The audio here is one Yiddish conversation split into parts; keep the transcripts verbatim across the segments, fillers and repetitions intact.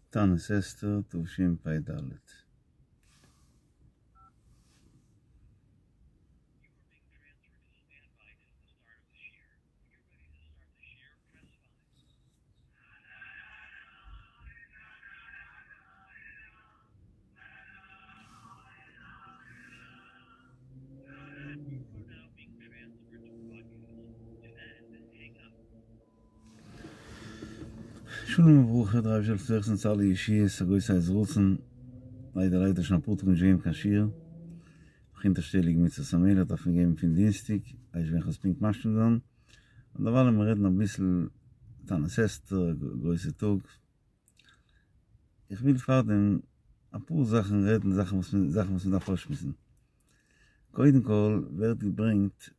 תענית אסתר תשפ"ד. שלום וברכה, דער אייבערשטער זאל זוכה זיין צו אלע ישועות, א גרויסע עת רצון, ליידער ליידער שוין אפאר טאג נישט געגעבן קיין שיעור, נאך אונטערשטעליג מצות המלך דארף מען געבן פון דינסטאג, ווייס נישט ווען כ'וועל עס פונקט משלים זיין, און דערווייל לאמיר רעדן אביסל תענית אסתר, א גרויסע טאג, איך וויל פארדעם אפאר זאכן רעדן זאכן וואס זאכן וואס מ'דארף אויסשמועסן, קודם כל ווערט געברענגט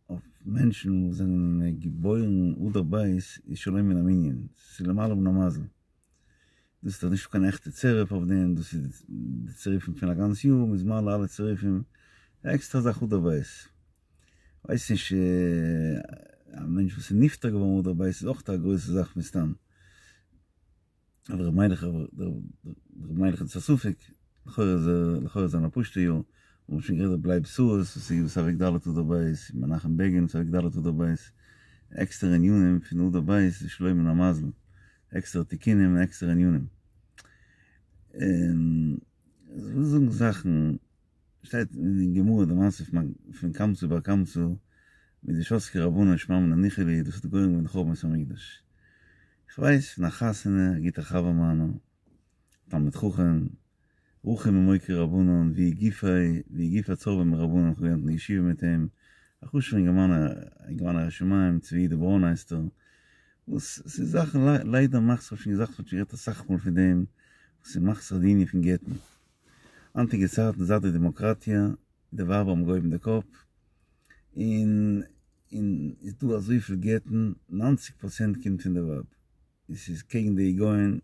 אויף מענטשן וואס זענען געבוירן אדר ב' איז שלא מן המנין, ס'איז למעלה מן המזל, דאס איז דאך נישט קיין עכטע צירוף אויף דעם, דאס איז די צירופים פון א גאנץ יאר, מ'איז מעלה אלע צירופים, א עקסטערע זאך אדר ב'. כ'ווייס נישט, א מענטש וואס איז נפטר געווארן אדר ב' איז אויך א גרויסע זאך מסתם. אבער ר' מיילעך ר' מיילעך איז א ספק, לכאורה איז ער לכאורה איז זיין א פשוטע יאר, מ'האט שוין גערעדט ר' לייב שרה'ס וואס איז אוועק ד' אדר ב', מנחם בעגין וואס איז אוועק ד' אדר ב', עקסטערע ענינים פון אדר ב' איז שלא מן המזל, עקסטערע תיקונים און עקסטערע ענינים. און כ'וויל זאגן זאכן, שטייט אין גמרא די מעשה פון קמצא בר קמצא מיט די שתקו רבנן שמע מינה ניחא להו דאס האט גורם געווען די חורבן בית המקדש. כ'ווייס פון א חתונה, א גוטער חבר מיינער, תלמיד חכם, רחום ממוקרי רבנן, והוא גופיה, והוא גופיה צורבא מרבנן, כ'האב געלערנט אין ישיבה מיט אים, א חשוב'ער אינגערמאן, א אינגערמאן א ירא שמים, צבי יהודה ברוין הייסט ער, וואס ס'איז זאכן, ליידער מאכט זיך, כ'האב שוין געזאגט, כ'האב שוין גערעדט אסאך מאל פון דעם, וואס ס'מאכט זיך די ענין פון גט'ן. היינטיגע צייטן זייט די דעמאקראטיע, די ווייבער האבן געהויבן די קאפ, און און איז דא אזויפיל גט'ן, ניינציג פראצענט קומט פון די ווייב, און ס'איז קעגן די היגיון,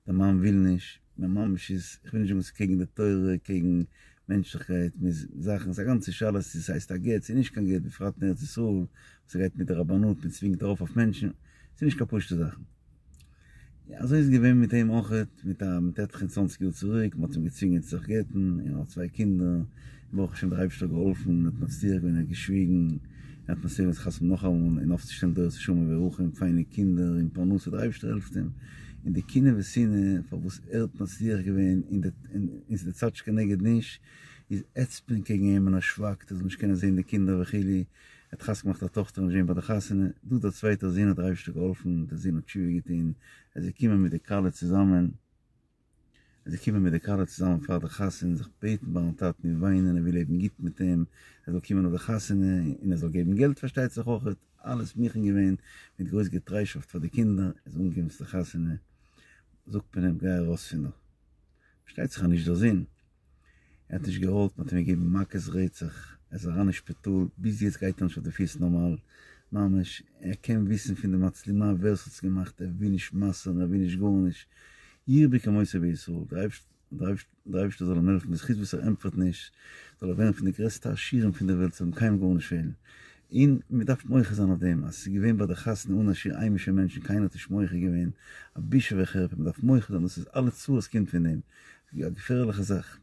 די מאן וויל נישט, ממש איז, כ'וויל נישט זאגן ס'איז קעגן די תורה, קעגן מענטשליכקייט, מיט זאכן, ס'איז א גאנצע שאלה צו ס'הייסט א גט צו נישט קיין גט, בפרט אין ארץ ישראל, וואס ס'גייט מיט די רבנות, מ'צווינגט ארויף אויף מענטשן, ס'איז נישט קיין פשוט'ע זאכן. אזוי איז געווען מיט אים אויכעט, מיט א מיט עטליכע און צוואנציג יאר צוריק, מ'האט אים געצווינגען צו זיך גט'ן, און ער האט צוויי קינדער, און ברוך השם דער אייבערשטער האט געהאלפן, ער האט מצליח געווען, ער האט געשוויגן, ער האט מצליח געווען זיך חתונה נאכאמאל, און אויפצושטעלן דורות נשמה וברכה, פיינע קינדער, און פרנסה, דער אייבערשטער העלפט אים, און די קנאה ושנאה פארוואס ער האט מצליח געווען, און די און די צד שכנגד נישט, איז העצט מען קעגן אים און ער שווייגט ער זאל נישט קענען זען די קינדער וכו', ער האט חתונה געמאכט א טאכטער נישט געווען ביי די חתונה, דא דער צווייטער זון האט דער אייבערשטער געהאלפן, דער זון האט תשובה געטון, ער איז געקומען מיט די כלה צוזאמען, ער איז געקומען מיט די כלה צוזאמען פאר די חתונה, זיך בעטן ביים טאטן און וויינען, ער וויל לעבן גוט מיט אים, ער זאל קומען אויף די חתונה, און ער זאל געבן געלט פארשטייט זיך אויכעט, אלעס מוכן געווען, מיט גרויס געטריישאפט פאר די קינדער, ער איז אנגעקומען צו די חתונה, זאגט מען אים גיי ארויס פון דא, פארשטייט זיך אז נישט דער זון. ער האט נישט געוואלט, מען האט אים געגעבן מכות רצח, ער איז אריין אין שפיטאל, ביז יעצט גייט ער נישט אויף די פיס נארמאל, ממש, ער קען וויסן פון די מצלמה ווער עס האט עס געמאכט, ער וויל נישט מסר'ן, ער וויל נישט גארנישט, ירבה כמותו בישראל, דער אייבערשטער זאל אים העלפן, בזכות וואס ער ענטפערט נישט, זאל ער ווערן פון די גרעסטע עשירים פון די וועלט, ס'זאל אים קיינעם גארנישט פעלן, און מען דארף מוחה זיין אויף דעם, אז עס איז געווען ביי די חתונה אן א שיעור היימישע מענטשן, קיינער האט נישט מוחה געווען, א בושה וחרפה, מען דארף מוחה זיין, דאס איז אלע צרות קומט פון דעם. א געפערליכע זאך.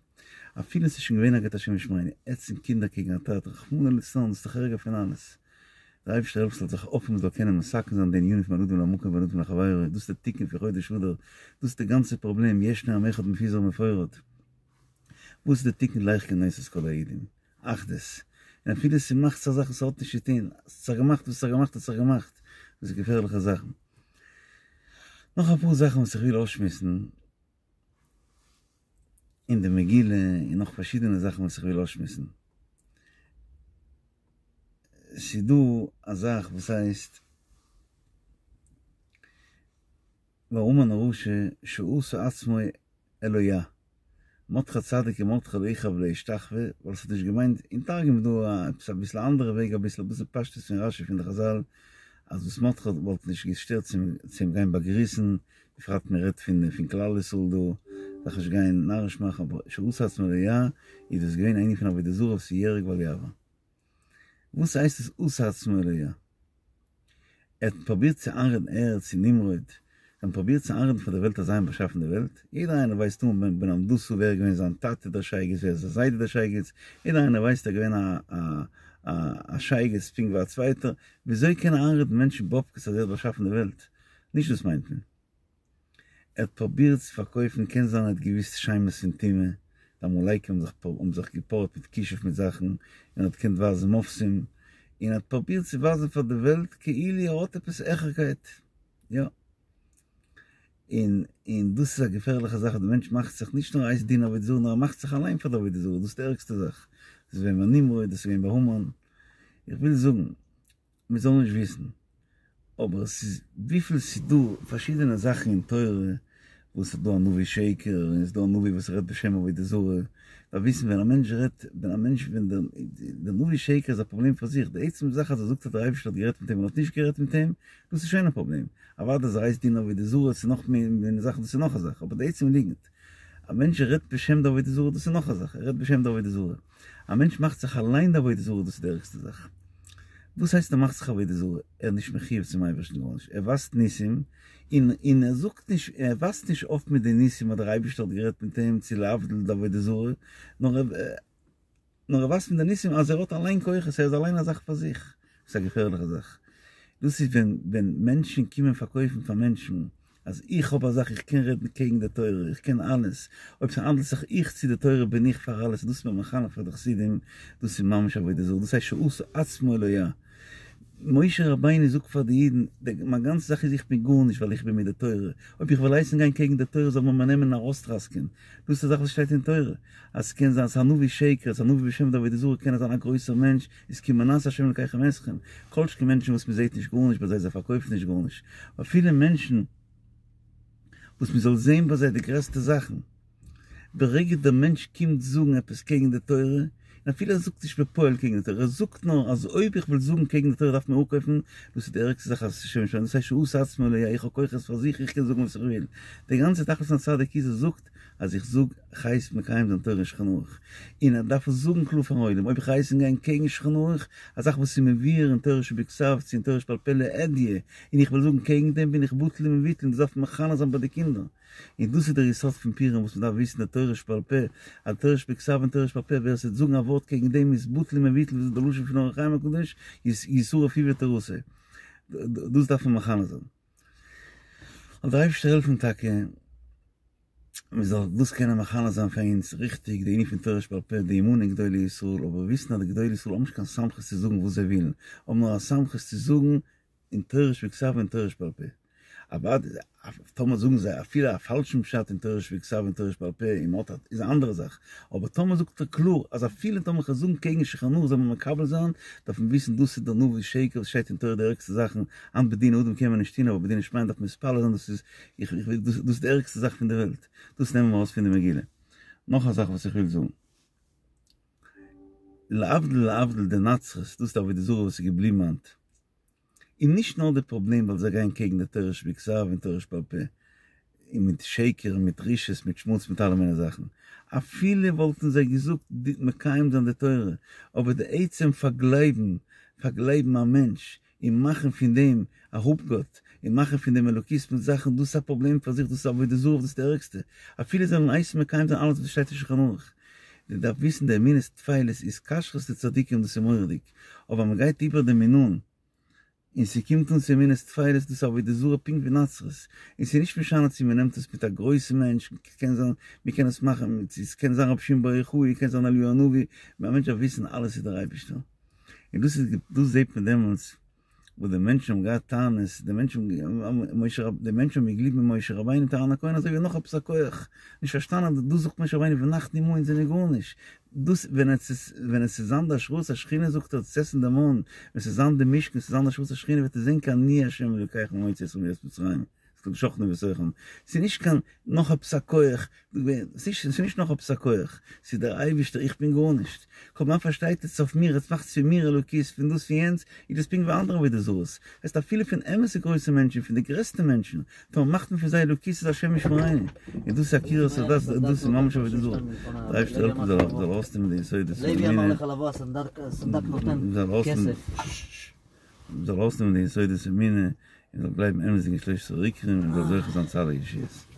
אפילו ס'איז שוין געווען א גט השם ישמרינו, העצן קינדער קעגן א טאטע, רחמנא ליצלן, דאס איז דאך ערגער פון אלעס. דער אייבערשטער העלף ס'זאל זיך אויפהערן מ'זאל קענען מתקן זיין די ענינים פון בין אדם למקום ובין אדם לחבירו, דאס איז די תיקון פון חודש אדר, דאס איז די גאנצע פראבלעם, ישנו עם אחד מפוזר ומפורד. וואס איז די תיקון לך כנוס את כל היהודים? אחדות. און אפילו ס'מאכט זיך זאכן ס'האט נישט צו טון, ס'האט זיך געמאכט וואס ס'האט זיך געמאכט האט זיך געמאכט, דאס איז געפערליכע זאכן. נאך אפאר זאכן וואס איך וויל אויסשמועסן. אין די מגילה און נאך פארשידענע זאכן וואס איך וויל אויסשמועסן. ס'איז דא א זאך וואס הייסט והמן הרשע שעשה עצמו אלוה. מרדכי הצדיק ומרדכי לא יכרע ולא ישתחווה, ווייל ס'האט נישט געמיינט, אין תרגום איז דא עפעס אביסל א אנדערע וועג אביסל אביסל פשטות פון רשי פון די חזל אז וואס מרדכי וואלט נישט געשטערט צו אים גיין באגריסן בפרט מען רעדט פון פון כלל ישראל דא, זיך נישט גיין נאריש מאכן, אבער שעשה עצמו אלוה איז דאס געווען א ענין פון עבודה זרה וואס איז יהרג ואל יעבור. וואס הייסט עס עשה עצמו אלוה? ער האט פרובירט צו איינרעדן ער צו נמרוד, זיי האבן פרובירט צו איינרעדן פאר די וועלט אז זיי האבן באשאפן די וועלט, יעדער איינער ווייסט אן בן המדתו ווער איז געווען זיין טאטע דער שייגעץ, ווער איז זיין זיידע דער שייגעץ, יעדער איינער ווייסט ער איז געווען א א א שייגעץ פונקט ווי א צווייטער, וויאזוי קען ער איינרעדן מענטשן באבקעס אז ער האט באשאפן די וועלט? נישט דאס מיינט מען. ער האט פרובירט צו פארקויפן, קען זיין ער האט געוויסט שמות פון טומאה, די עמלקים האבן זיך האבן זיך געפארט מיט כישוף מיט זאכן, און ער האט געקענט ווייזן מופתים, און ער האט פרובירט צו ווייזן פאר די וועלט כאילו ער האט עפעס העכערקייט, יא. און און דאס איז א געפערליכע זאך אז די מענטש מאכט זיך נישט נאר הייסט דינען עבודה זרה נאר ער מאכט זיך אליין פאר די עבודה זרה, דאס איז די ערגסטע זאך, דאס איז געווען ביי נמרוד, דאס איז געווען ביי המן, איך וויל זאגן, מען זאל נישט וויסן, אבער עס איז וויפיל ס'איז דא פארשידענע זאכן אין תורה, וואס ס'איז דא א נביא שקר, און ס'איז דא א נביא וואס רעדט בשם עבודה זרה, דארף וויסן ווען א מענטש רעדט, ווען א מענטש, ווען דער נביא שקר איז א פראבלעם פאר זיך, די עצם זאך אז ער זאגט אז דער אייבערשטער האט גערעדט מיט אים און האט נישט גערעדט מיט אים, דאס איז שוין א פראבלעם, אוודאי אז ער הייסט דינען עבודה זרה, ס'איז נאך מער זאכן, דאס איז נאך א זאך, אבער די עצם ליגנט, א מענטש רעדט בשם די עבודה זרה, דאס איז נאך א זאך, ער רעדט בשם די עבודה זרה. א מענטש מאכט זיך אליין די עבודה זרה, דאס איז די ערגסטע זאך. וואס הייסט ער מאכט זיך עבודה זרה? ער איז נישט מחויב צום אייבערשטן גארנישט, ער ווייזט ניסים, און און ער זאגט נישט, ער ווייזט נישט אויף מיט די ניסים אז דער אייבערשטער האט גערעדט מיט אים צו להבדיל די עבודה זרה, נאר ער נאר ער ווייזט מיט די ניסים אז ער האט אליין כוחות, ער איז אליין א זאך פאר זיך. דאס איז א געפערליכע זאך. דאס איז ווען ווען מענטשן קומען פארקויפן פאר מענטשן אז איך האב א זאך, איך קען רעדן קעגן די תורה, איך קען אלעס, אויב ס'האנדלט זיך איך צו די תורה בין איך פאר אלעס, דאס איז מען מחנך פאר די חסידים, דאס איז ממש עבודה זרה, דאס הייסט שעשה עצמו אלוה. משה רבינו זאגט פאר די אידן, מיין גאנצע זאך איז איך בין גארנישט ווייל איך בין מיט די תורה, אויב איך וועל הייסן גיין קעגן די תורה זאל מען מיר נעמען און ארויסטראסקען, דאס איז א זאך וואס שטייט אין תורה, אז ס'קען זיין ס'איז א נביא שקר, ס'איז א נביא בשם די עבודה זרה קען ער זיין א גרויסער מענטש, איז כי מנאס השם אלקיכם אתכם, כל שכן מענטשן וואס מ'זעט נישט גארנישט ביי זיי, זיי פארקויפן נישט גארנישט, אפילו מענטשן וואס מ'זאל זען ביי זיי די גרעסטע זאכן, ברגע דער מענטש קומט זאגן עפעס קעגן די תורה, און אפילו ער זאגט נישט בפועל קעגן די תורה, ער זאגט נאר אז אויב איך וועל זאגן קעגן די תורה דארף מען אפקויפן, דאס איז די ערגסטע זאך אז השם ישמרנו, דאס הייסט שעשה עצמו אלוה, איך האב כוחות פאר זיך, איך קען זאגן וואס איך וויל, די גאנצע תכלית פון א צדיק איז ער זאגט אז איך זאג איך הייס מקיים זיין תורה אין שולחן ערוך, און ער דארף עס זאגן קלאר פארן עולם, אויב איך הייס אים גיין קעגן שולחן ערוך, א זאך וואס איז מבואר אין תורה שבכתב צו אין תורה שבעל פה להדיא, און איך וועל זאגן קעגן דעם בין איך בטל ומבוטל, און דאס דארף מען מחנך זיין ביי די קינדער. און דאס איז דער יסוד פון פורים וואס מען דארף וויסן די תורה שבעל פה, אז תורה שבכתב און תורה שבעל פה, ווער עס וועט זאגן א ווארט קעגן דעם איז בטל ומבוטל, ווי איז דער לשון פון אור החיים הקדוש, ישרף הוא ותורתו. דאס דארף מען מחנך זיין. זאל דער אייבערשטער העלפן טאקע מען זאל דאס קענען מחנך זיין פאר אונז ריכטיג, די ענין פון תורה שבעל פה, די אמונה אין גדולי ישראל, אבער וויסן אז די גדולי ישראל האבן נישט קיין סמכות צו זאגן וואס זיי ווילן, האבן נאר א סמכות צו זאגן אין תורה שבכתב און תורה שבעל פה. אוודאי טאמער זאגן זיי אפילו א פאלשן פשט אין תורה שבכתב און תורה שבעל פה און מ'האט א איז א אנדערע זאך, אבער טאמער זאגט ער קלאר אז אפילו טאמער כ'וועל זאגן קעגן שולחן ערוך זאל מען מקבל זיין, דארף מען וויסן דאס איז דער נביא שקר וואס שטייט אין תורה די ערגסטע זאכן, היינט בדיני אדם קען מען נישט טון אבער בדיני שמים דארף מען מתפלל זיין דאס איז איך איך דאס איז די ערגסטע זאך פון די וועלט, דאס נעמען מיר ארויס פון די מגילה. נאך א זאך וואס איך וויל זאגן. להבדיל להבדיל די נצרות, דאס איז די עבודה זרה וואס איז געבליבן היינט. און נישט נאר די פראבלעם ווייל זיי גייען קעגן די תורה שבכתב און תורה שבעל פה, און מיט שקר און מיט רשעות מיט שמוץ מיט אלע מיני זאכן, אפילו וואלטן זיי געזאגט מקיים זיין די תורה, אבער די עצם פארגלייבן, פארגלייבן א מענטש און מאכן פון דעם א אפגאט, און מאכן פון דעם אלוקות מיט זאכן, דאס איז א פראבלעם פאר זיך, דאס איז עבודה זרה, דאס איז די ערגסטע, אפילו זיי זאלן הייסן מקיים זיין אלעס וואס שטייט אין שולחן ערוך. מען דארף וויסן די אמונות טפלות התקשרות לצדיקים דאס איז מורא'דיג, אבער מען גייט איבער דעם מינון און ס'קומט אן צו אמונות טפלות דאס איז עבודה זרה פונקט ווי נצרות, און ס'איז נישט משנה צו מען נעמט עס מיט א גרויסן מענטש, קען זיין מען קען עס מאכן, ס'קען זיין רבי שמעון בר יוחאי, קען זיין אליהו הנביא, א מענטש דארף וויסן אלעס איז דער אייבערשטער, און דאס איז דאס זעט מען דעמאלטס וואס די מענטשן האבן געהאט טענות, די מענטשן האבן די מענטשן האבן געגליבן אין משה רבינו מיט אהרן הכהן אזוי ווי נאך עפעס א כח, נישט פארשטאנען אז דאס זאגט משה רבינו ואנחנו מה אונז זענען גארנישט, דאס ווען עס איז ווען עס איז זיין די השראת השכינה זאגט ער צו עסן די מן, ווען עס איז זיין די משכן עס איז זיין די השראת השכינה וועט ער זען כי אני ה' אלוקיכם המוציא אתכם מארץ מצרים. שכני בתוכם, ס'איז נישט קיין נאך עפעס א כח, ס'איז נישט נאך עפעס א כח, ס'איז דער אייבערשטער, איך בין גארנישט, קוים מען פארשטייט עס אויף מיר, עטס מאכטס פון מיר אלוקות, פון דאס פון יענץ, איז דאס פונקט ווי אנדערע עבודה זרות, הייסט אפילו פון אמת'ע גרויסע מענטשן, פון די גרעסטע מענטשן, טאמער מאכט מען פון זיי אלוקות איז השם ישמרינו, און דאס איז עקירת הדת, דאס איז ממש עבודה זרה, דער אייבערשטער העלפן מ'זאל ארויסנעמען די יסודות פון אמונה, מ'זאל ארויסנעמען די יסודות אמונה. און זאל גלייבן אמת'דיג אין שלשת העיקרים און זאל זוכה זיין צו אלע ישועות.